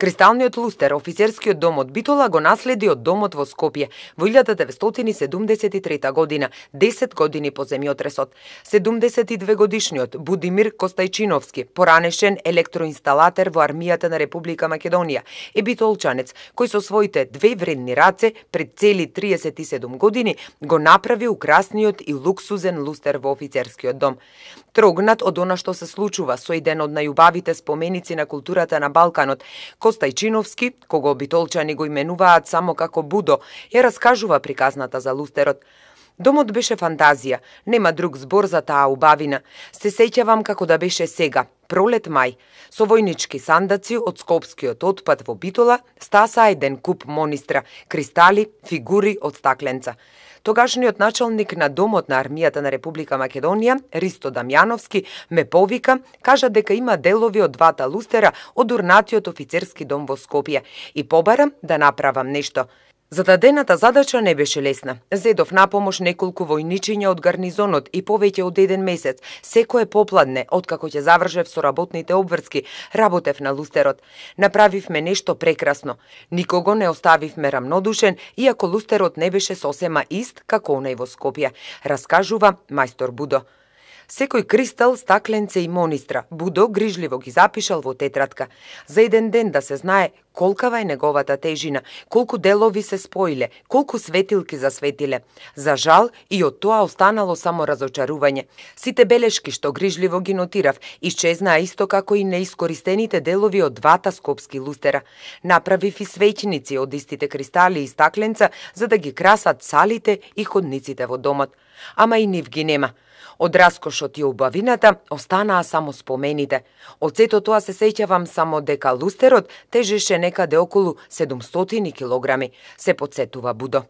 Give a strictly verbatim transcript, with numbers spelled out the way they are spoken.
Кристалниот лустер, офицерскиот дом од Битола, го наследи од домот во Скопје во илјада деветстотини седумдесет и трета година, десет години по земјотресот. седумдесет и две годишниот Будимир Костајчиновски, поранешен електроинсталатер во армијата на Република Македонија, е битолчанец кој со своите две вредни раце пред цели триесет и седум години го направи украсниот и луксузен лустер во офицерскиот дом. Трогнат од она што се случува со еден од најубавите споменици на културата на Балканот, Костајчиновски, кого битолчани го именуваат само како Будо, ја раскажува приказната за лустерот. Домот беше фантазија, нема друг збор за таа убавина. Се сеќавам како да беше сега, пролет мај, со војнички сандаци од скопскиот отпад во Битола, стаса еден куп монистра, кристали, фигури од стакленца. Тогашниот началник на домот на армијата на Република Македонија, Ристо Дамјановски, ме повика, кажа дека има делови од двата лустера од урнатиот офицерски дом во Скопје и побара да направам нешто. Зададената задача не беше лесна. Зедов на помош неколку војничиња од гарнизонот и повеќе од еден месец, секое попладне, откако ќе завршев со работните обврски, работев на лустерот. Направивме нешто прекрасно. Никого не оставивме рамнодушен, иако лустерот не беше сосема ист како онај во Скопје, раскажува мајстор Будо. Секој кристал, стакленце и монистра Будо грижливо ги запишал во тетрадка. За еден ден да се знае колкава е неговата тежина, колку делови се споиле, колку светилки засветиле. За жал, и од тоа останало само разочарување. Сите белешки што грижливо ги нотирав, исчезнаа исто како и неискористените делови од двата скопски лустера. Направив и свеќници од истите кристали и стакленца за да ги красат салите и ходниците во домот. Ама и нив ги нема. Од раскошот и убавината останаа само спомените. Од сето тоа се сеќавам само дека лустерот тежеше некаде околу седумстотини килограми, се потсетува Будо.